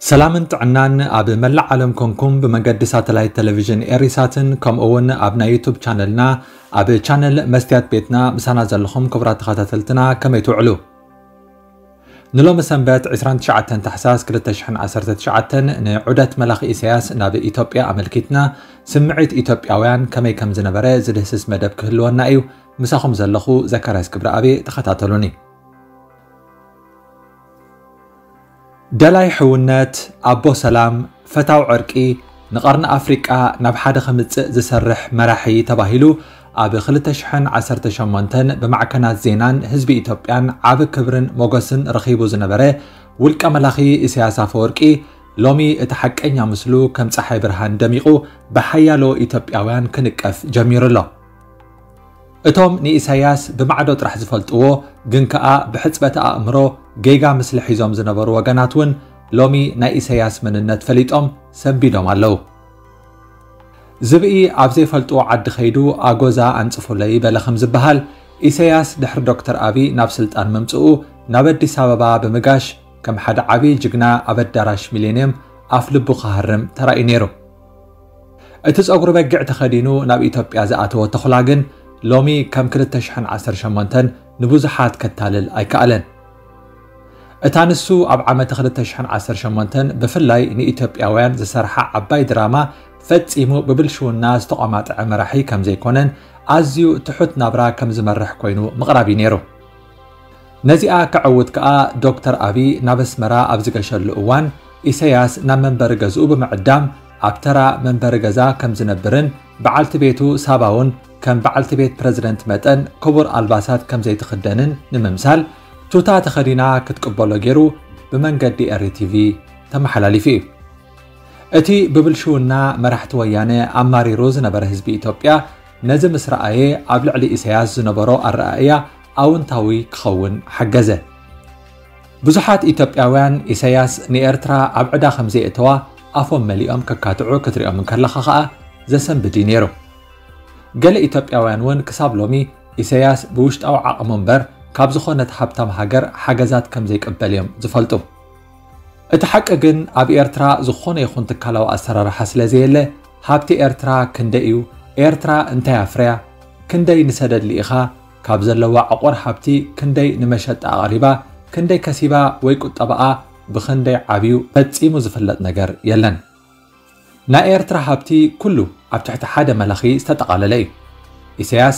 ሰላምን ጥዕናን ኣብ መላእ ዓለም ኮንኩም ብመገዲ ሳተላይት ቴሌቪዥን ኤሪሳትን ከምኡ እውን ኣብ ናይ ዩቱብ ቻነልና ኣብ ቻነል መስትያት ቤትና ምሳና ዘለኹም ክቡራት ተኸታተልትና ከመይ ትውዕሉ? ንሎሚ ሰንበት ዕስራን ትሽዓተን ታሕሳስ ክልተ ሽሕን ዓሰርተ ትሽዓተን ንዑደት መላኺ ኢሳያስ ናብ ኢትዮጵያ ኣመልኪትና ስምዒት ኢትዮጵያውያን ከመይ ከም ዝነበረ ዝድህስስ መደብ ክህልወና እዩ። ምሳኹም ዘለኹ ዘካርያስ ክብረኣብ። ተኸታተሉኒ። ደላይ ሕውነት፣ ኣቦ ሰላም፣ ፈታው ዕርቂ፣ ንቐርኒ ኣፍሪቃ ናብ ሓደ ከምጽእ ዝሰርሕ መራሒ ተባሂሉ ኣብ ክልተ ሽሕን ዓሰርተ ሸሞንተን ብማዕከናት ዜናን ህዝቢ ኢትዮጵያን ዓቢ ክብርን ሞገስን ረኺቡ ዝነበረ ውልቀ መላኺ ኢሳያስ ኣፈወርቂ ሎሚ እቲ ሓቀኛ ምስሉ ከም ጸሓይ ብርሃን ደሚቑ ብሓያሎ ኢትዮጵያውያን ክንቀፍ ጀሚሩ ኣሎ። እቶም ንኢሳያስ ብማዕዶ ጥራሕ ዝፈልጥዎ ግን ከኣ ብሕጽበተ ኣእምሮ ጌጋ ምስሊ ሒዞም ዝነበሩ ወገናት እውን ሎሚ ናይ ኢሳያስ መንነት ፈሊጦም ሰንቢዶም ኣለዉ። ዝብኢ ኣብ ዘይፈልጥዎ ዓዲ ከይዱ ኣጎዛ ኣንጽፉለይ በለ ከም ዝበሃል፣ ኢሳያስ ድሕሪ ዶክተር ኣቢ ናብ ስልጣን ምምጽኡ ናብ ኣዲስ ኣበባ ብምጋሽ ከም ሓደ ዓቢ ጅግና ኣብ ኣዳራሽ ሚሌንየም ኣፍ ልቡ ክሃርም ተራእዩ ነይሩ። እቲ ጸጉሪ በጊዕ ተኸዲኑ ናብ ኢትዮጵያ ዝኣተወ ተኹላ ግን ሎሚ ከም ክልተ ሽሕን ዓሰርተ ሸሞንተን ንብዙሓት ከታልል ኣይከኣለን። እታ ንሱ ኣብ ዓመተ ክልተ ሽሕን ዓሰርተ ሸሞንተን ብፍላይ ንኢትዮጵያውያን ዝሰርሓ ዓባይ ድራማ ፈጺሙ ብብልሽውና ዝተቋማጥዐ መራሒ ከም ዘይኮነን ኣዝዩ ትሑት ናብራ ከም ዝመርሕ ኮይኑ ምቕራብ እዩ ነይሩ። ነዚኣ ከዕውት ከኣ ዶክተር ኣቢ ናብ ኣስመራ ኣብ ዝገሸሉ እዋን ኢሳያስ ናብ መንበሪ ገዝኡ ብምዕዳም ኣብ ተራ መንበሪ ገዛ ከም ዝነብርን በዓልቲ ቤቱ ሳባ እውን ከም በዓልቲ ቤት ፕረዚደንት መጠን ክቡር ኣልባሳት ከም ዘይትኽደንን ንምምሳል ቱታ ተኸዲና ክትቅበሎ ገይሩ ብመንገዲ ኤሪ ቲቪ ተመሓላሊፉ እዩ። እቲ ብብልሽውና መራሕቲ ወያነ ኣማሪሩ ዝነበረ ህዝቢ ኢትዮጵያ ነዚ ምስ ረኣየ ኣብ ልዕሊ ኢሳያስ ዝነበሮ ኣረኣእያ ኣውንታዊ ክኸውን ሓገዘ። ብዙሓት ኢትዮጵያውያን ኢሳያስ ንኤርትራ ኣብ ዕዳ ከም ዘየእተዋ ኣፎም መሊኦም ከካትዑ ክትሪኦም እንከለኻ ኸኣ ዘሰንብድ እዩ ነይሩ። ገለ ኢትዮጵያውያን እውን ክሳብ ሎሚ ኢሳያስ ብውሽጣዊ ዓቕሙ እምበር ካብ ዝኾነት ሃብታም ሃገር ሓገዛት ከም ዘይቅበል እዮም ዝፈልጡ። እቲ ሓቂ ግን ኣብ ኤርትራ ዝኾነ ይኹን ትካላዊ ኣሰራርሓ ስለ ዘየለ ሃብቲ ኤርትራ ክንደይ እዩ፣ ኤርትራ እንታይ ኣፍርያ፣ ክንደይ ንሰደድ ልኢኻ፣ ካብ ዘለዋ ዕቑር ሃብቲ ክንደይ ንመሸጣ ኣቕሪባ፣ ክንደይ ከሲባ ወይ ቁጠባኣ ብኽንደይ ዓብዩ ፈጺሙ ዝፍለጥ ነገር የለን። ናይ ኤርትራ ሃብቲ ኩሉ ኣብ ትሕቲ ሓደ መላኺ ዝተጠቓለለ እዩ። ኢሳያስ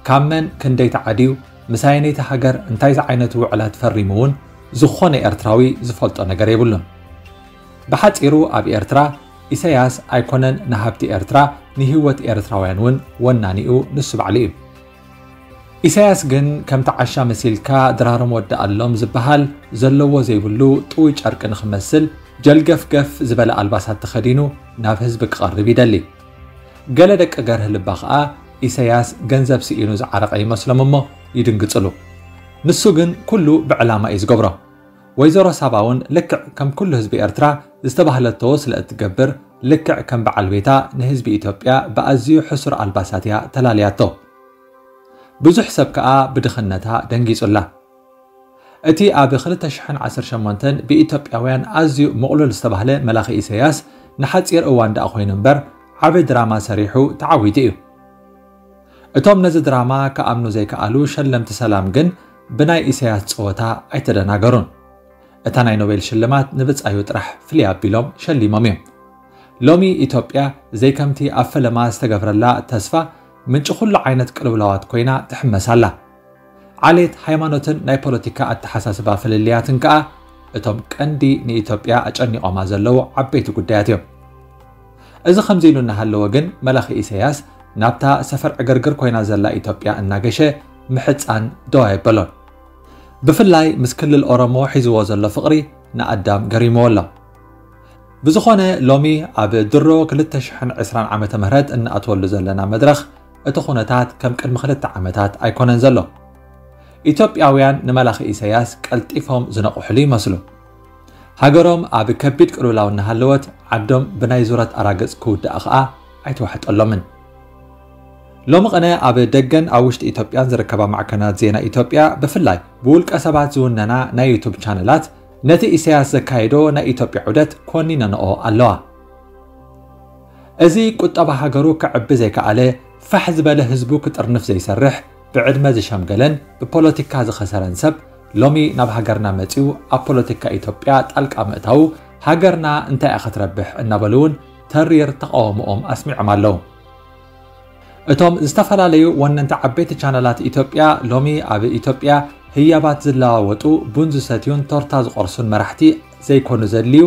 ካብ መን ክንደይ ተዓድዩ፣ ምስ ኣየነይቲ ሃገር እንታይ ዝዓይነቱ ውዕላት ፈሪሙ እውን ዝኾነ ኤርትራዊ ዝፈልጦ ነገር የብሉን። ብሓጺሩ ኣብ ኤርትራ ኢሳያስ ኣይኮነን ንሃብቲ ኤርትራ፣ ንህይወት ኤርትራውያን እውን ወናኒኡ ንሱ ባዕሉ እዩ። ኢሳያስ ግን ከምቲ ዓሻ መሲልካ ድራሮም ወዳኣሎም ዝበሃል ዘለዎ ዘይብሉ ጥውይ ጨርቂ ንኽመስል ጀልገፍገፍ ዝበለ ኣልባሳት ተኸዲኑ ናብ ህዝቢ ክቐርብ ይደሊ። ገለ ደቂ ገርህ ልባ ኸኣ ኢሳያስ ገንዘብ ስኢኑ ዝዓረቐ ይመስሎም እሞ ይድንግጽሉ። ንሱ ግን ኩሉ ብዕላማ እዩ ዝገብሮ። ወይዘሮ ሳባ እውን ልክዕ ከም ኩሉ ህዝቢ ኤርትራ ዝተባህለቶ ስለ እትገብር ልክዕ ከም በዓል ቤታ ንህዝቢ ኢትዮጵያ ብኣዝዩ ሕሱር ኣልባሳት እያ ተላልያቶ። ብዙሕ ሰብ ከኣ ብድኽነታ ደንጊጹላ። እቲ ኣብ ክልተ ሽሕን ዓሰርተ ሸሞንተን ብኢትዮጵያውያን ኣዝዩ ምቕሉል ዝተባህለ መላኺ ኢሳያስ ንሓጺር እዋን ደኣ ኮይኑ እምበር ዓቢ ድራማ ሰሪሑ ተዓዊቱ እዩ። እቶም ነዚ ድራማ ክኣምኑ ዘይከኣሉ ሸለምቲ ሰላም ግን ብናይ ኢሳያስ ጸወታ ኣይተደናገሩን። እታ ናይ ኖቤል ሽልማት ንብጻዩ ጥራሕ ፍልይ ኣቢሎም ሸሊሞም እዮም። ሎሚ ኢትዮጵያ ዘይከምቲ ኣብ ፈለማ ዝተገብረላ ተስፋ ምንጪ ኩሉ ዓይነት ቅልውላዋት ኮይና ትሕመስ ኣላ። ዓሌት፣ ሃይማኖትን ናይ ፖለቲካ ኣተሓሳስባ ፍልልያትን ከኣ እቶም ቀንዲ ንኢትዮጵያ ኣጨኒቖማ ዘለዉ ዓበይቲ ጉዳያት እዮም። እዚ ከምዚ ኢሉ እናሃለወ ግን መላኺ ኢሳያስ ናብታ ሰፈር ዕግርግር ኮይና ዘላ ኢትዮጵያ እናገሸ ምሕጻን ደው ኣየበሎን። ብፍላይ ምስ ክልል ኦሮሞ ሒዝዎ ዘሎ ፍቕሪ ንኣዳም ገሪምዎ ኣሎ። ብዝኾነ ሎሚ ኣብ ድሮ ክልተ ሽሕን ዕስራን ዓመተ ምህረት እንኣትወሉ ዘለና መድረኽ እቲ ኩነታት ከም ቅድሚ ክልተ ዓመታት ኣይኮነን ዘሎ። ኢትዮጵያውያን ንመላኺ ኢሳያስ ቀልጢፎም ዝነቕሕሉ ይመስሉ። ሃገሮም ኣብ ከቢድ ቅልውላው እናሃለወት፣ ዓዶም ብናይ ዙረት ኣራግጽ ክውዳእ ኸኣ ኣይተዋሕጠሎምን። ሎሚ ቕነ ኣብ ደገን ኣብ ውሽጢ ኢትዮጵያን ዝርከባ ማዕከናት ዜና ኢትዮጵያ፣ ብፍላይ ብውልቀ ሰባት ዝውነና ናይ ዩቱብ ቻነላት፣ ነቲ ኢሳያስ ዘካየዶ ናይ ኢትዮጵያ ዑደት ኮኒነንኦ ኣለዋ። እዚ ቁጠባ ሃገሩ ክዕቢ ዘይከኣለ፣ ፋሕ ዝበለ ህዝቡ ክጥርንፍ ዘይሰርሕ፣ ብዕድመ ዝሸምገለን ብፖለቲካ ዝኸሰረን ሰብ፣ ሎሚ ናብ ሃገርና መጺኡ ኣብ ፖለቲካ ኢትዮጵያ ጣልቃ ምእታዉ፣ ሃገርና እንታይ እያ ክትረብሕ እናበሉ እውን ተሪር ተቃውሞኦም ኣስሚዖም ኣለዉ። እቶም ዝተፈላለዩ ወነንቲ ዓበይቲ ቻነላት ኢትዮጵያ፣ ሎሚ ኣብ ኢትዮጵያ ህያባት ዝለዋወጡ፣ ቡን ዝሰትዩን ቶርታ ዝቆርሱን መራሕቲ ዘይኮኑ ዘድልዩ፣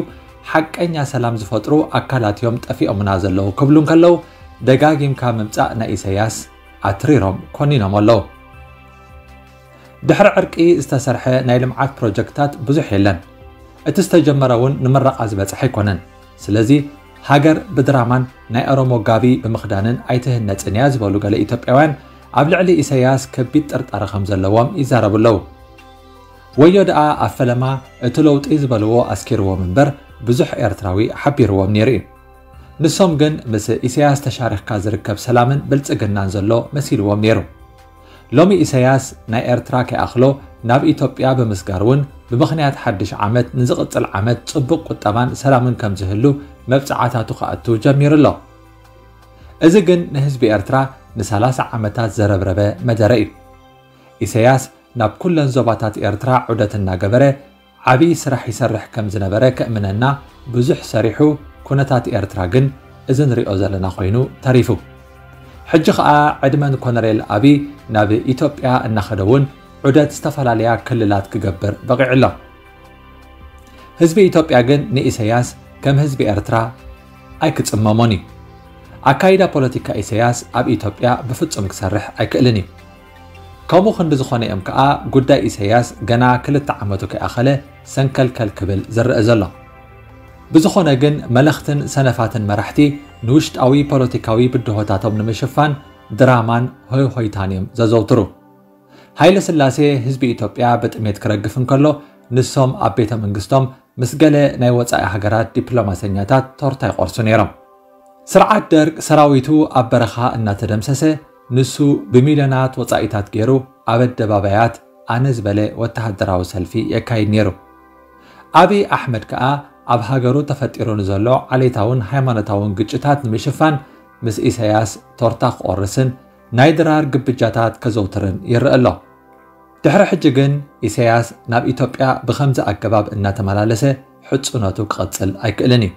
ሓቀኛ ሰላም ዝፈጥሩ ኣካላት እዮም ጠፊኦምና ዘለዉ ክብሉ እንከለዉ፣ ደጋጊምካ ምምጻእ ናይ ኢሳያስ ኣትሪሮም ኮኒኖም ኣለዉ። ድሕሪ ዕርቂ ዝተሰርሐ ናይ ልምዓት ፕሮጀክታት ብዙሕ የለን። እቲ ዝተጀመረ እውን ንምረቓ ዝበጽሐ ኣይኮነን። ስለዚ ሃገር ብድራማን ናይ ኦሮሞ ጋቢ ብምኽዳንን ኣይትህነጽን እያ ዝበሉ ገለ ኢትዮጵያውያን፣ ኣብ ልዕሊ ኢሳያስ ከቢድ ጥርጣረ ከም ዘለዎም ይዛረቡ ኣለዉ። ወዮ ደኣ ኣብ ፈለማ እቲ ለውጢ ዝበልዎ ኣስኪርዎም እምበር፣ ብዙሕ ኤርትራዊ ሓቢርዎም ነይሩ እዩ። ንሶም ግን ምስ ኢሳያስ ተሻሪኽካ ዝርከብ ሰላምን ብልጽግናን ዘሎ መሲልዎም ነይሩ። ሎሚ ኢሳያስ ናይ ኤርትራ ከይኣኽሎ ናብ ኢትዮጵያ ብምስጋር እውን፣ ብምኽንያት ሓድሽ ዓመት ንዝቕጽል ዓመት ጽቡቕ ቁጠባን ሰላምን ከም ዝህሉ መብጽዓታቱ ክኣቱ ጀሚሩ ኣሎ። እዚ ግን ንህዝቢ ኤርትራ ንሰላሳ ዓመታት ዘረብረበ መደረ እዩ። ኢሳያስ ናብ ኩለን ዞባታት ኤርትራ ዑደት እናገበረ ዓብዪ ስራሕ ይሰርሕ ከም ዝነበረ ከእምነና ብዙሕ ሰሪሑ፣ ኩነታት ኤርትራ ግን እዚ ንሪኦ ዘለና ኮይኑ ተሪፉ። ሕጂ ኸኣ ዕድመ ንኮነሬል ኣብይ ናብ ኢትዮጵያ እናኸደ እውን ዑደት ዝተፈላለያ ክልላት ክገብር በቒዑ ኣሎ። ህዝቢ ኢትዮጵያ ግን ንኢሳያስ ከም ህዝቢ ኤርትራ ኣይክጽመሞን እዩ። ኣካይዳ ፖለቲካ ኢሳያስ ኣብ ኢትዮጵያ ብፍጹም ክሰርሕ ኣይክእልን እዩ። ከምኡ ክንዲ ዝኾነ እዮም ከኣ ጉዳይ ኢሳያስ ገና ክልተ ዓመቱ ከይኣኸለ ሰንከልከል ክብል ዝረአ ዘሎ። ብዝኾነ ግን መለኽትን ሰነፋትን መራሕቲ ንውሽጣዊ ፖለቲካዊ ብድሆታቶም ንምሽፋን ድራማን ሆይ ሆይታን እዮም ዘዘውትሩ። ሃይለ ስላሴ ህዝቢ ኢትዮጵያ ብጥሜት ክረግፍ እንከሎ፣ ንሶም ኣብ ቤተ መንግስቶም ምስ ገለ ናይ ወጻኢ ሃገራት ዲፕሎማሰኛታት ቶርታ ይቆርሱ ነይሮም። ስርዓት ደርግ ሰራዊቱ ኣብ በረኻ እናተደምሰሰ፣ ንሱ ብሚልዮናት ወጻኢታት ገይሩ ኣብ ኣደባባያት ኣነ ዝበለ ወተሃደራዊ ሰልፊ የካይድ ነይሩ። ኣብይ ኣሕመድ ከኣ ኣብ ሃገሩ ተፈጢሩ ንዘሎ ዓሌታውን ሃይማኖታውን ግጭታት ንምሽፋን ምስ ኢሳያስ ቶርታ ክቆርስን ናይ ድራር ግብጃታት ከዘውትርን ይረአ ኣሎ። ድሕሪ ሕጂ ግን ኢሳያስ ናብ ኢትዮጵያ ብኸምዚ ኣገባብ እናተመላለሰ ሕጽኖቱ ክቐጽል ኣይክእልን እዩ።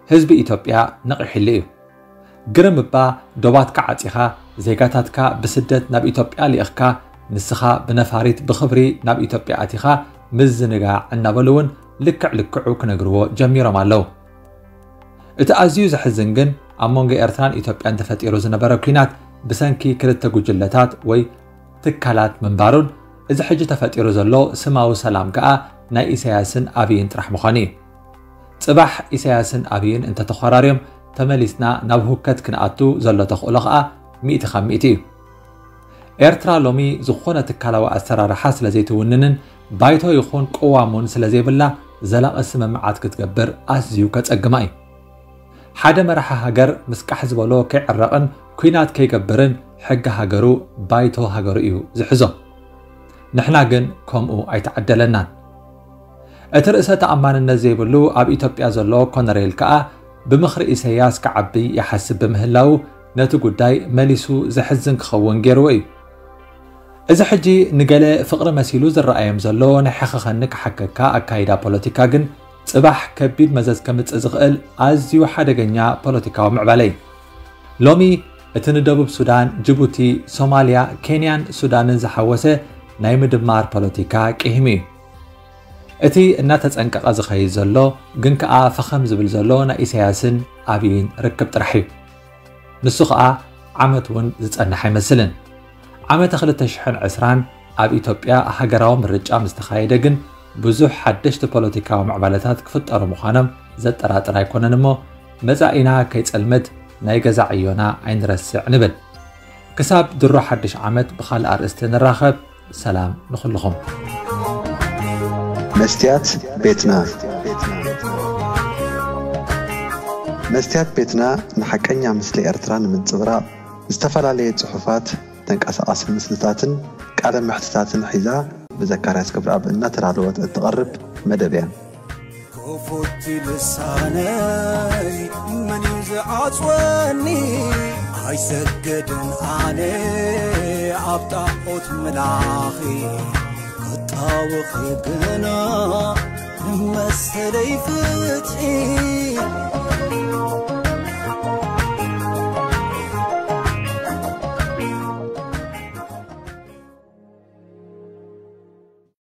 ህዝቢ ኢትዮጵያ ነቒሕሉ እዩ። ግርም እባ ዶባትካ ዓጺኻ፣ ዜጋታትካ ብስደት ናብ ኢትዮጵያ ልኢኽካ፣ ንስኻ ብነፋሪት ብኽብሪ ናብ ኢትዮጵያ ኣቲኻ ምዝንጋዕ እናበሉ እውን ልክዕ ልክዑ ክነግርዎ ጀሚሮም ኣለዉ። እቲ ኣዝዩ ዘሕዝን ግን ኣብ መንጎ ኤርትራን ኢትዮጵያን ተፈጢሩ ዝነበረ ኲናት ብሰንኪ ክልተ ጉጅለታት ወይ ትካላት ምንባሩን፣ እዚ ሕጂ ተፈጢሩ ዘሎ ስማዊ ሰላም ከኣ ናይ ኢሳያስን ኣብይን ጥራሕ ምዃኑ እዩ። ጽባሕ ኢሳያስን ኣብይን እንተተኾራርዮም ተመሊስና ናብ ሁከት ክንኣቱ ዘሎ ተኽእሎ ከኣ ሚእቲ ካብ ሚእቲ እዩ። ኤርትራ ሎሚ ዝኾነ ትካላዊ ኣሰራርሓ ስለ ዘይትውንንን ባይቶ ይኹን ቅዋም እውን ስለ ዘይብላ ዘላቒ ስምምዓት ክትገብር ኣዝዩ ከጸግማ እዩ። ሓደ መራሒ ሃገር ምስ ቃሕ ዝበሎ ከይዕረቕን ኲናት ከይገብርን ሕጊ ሃገሩ ባይቶ ሃገሩ እዩ ዝሕዞ። ንሕና ግን ከምኡ ኣይተዓደለናን። እቲ ርእሰ ተኣማንነት ዘይብሉ ኣብ ኢትዮጵያ ዘሎ ኮነሬል ከኣ ብምኽሪ ኢሳያስ ክዓቢ ይሓስብ ብምህላዉ ነቲ ጉዳይ መሊሱ ዘሕዝን ክኸውን ገይርዎ እዩ። እዚ ሕጂ ንገለ ፍቕሪ መሲሉ ዝረኣዮም ዘሎ ናይ ሕኸኸኒ ክሓከካ ኣካይዳ ፖለቲካ ግን ጽባሕ ከቢድ መዘዝ ከምጽእ ዝኽእል ኣዝዩ ሓደገኛ ፖለቲካዊ ምዕባለ እዩ። ሎሚ እቲ ንደቡብ ሱዳን፣ ጅቡቲ፣ ሶማልያ፣ ኬንያን ሱዳንን ዝሓወሰ ናይ ምድማር ፖለቲካ ቅሂሙ እዩ። እቲ እናተጸንቀቐ ዝኸይድ ዘሎ ግን ከኣ ፈኸም ዝብል ዘሎ ናይ ኢሳያስን ኣብይን ርክብ ጥራሕ እዩ። ንሱ ኸኣ ዓመት እውን ዝጸንሕ ኣይመስልን። ዓመተ ክልተ ሽሕን ዕስራን ኣብ ኢትዮጵያ ሃገራዊ ምርጫ ምስ ተኻየደ ግን ብዙሕ ሓደሽቲ ፖለቲካዊ ምዕባለታት ክፍጠሩ ምዃኖም ዘጠራጥር ኣይኮነን እሞ፣ መጻኢና ከይጸልምት ናይ ገዛ ዕዮና ኣይንረስዕ ንብል። ክሳብ ድሮ ሓድሽ ዓመት ብኻልእ ኣርእስቲ ንራኸብ። ሰላም ንኹልኹም። መስትያት ቤትና። መስትያት ቤትና ንሓቀኛ ምስሊ ኤርትራ ንምንጽብራቕ ዝተፈላለየ ጽሑፋት፣ ተንቀሳቓሲ ምስልታትን ቃለ መሕትታትን ሒዛ ብዘካርያስ ገብረኣብ እናተዳለወት እትቐርብ መደብ እያ። ክፉት ልሳነይ መን እዩ ዝዓጽወኒ? ኣይሰገድን ኣነ ኣብ ጣዖት ምላኺ ክጣወኺ ግና መሰለይ ፍትሒ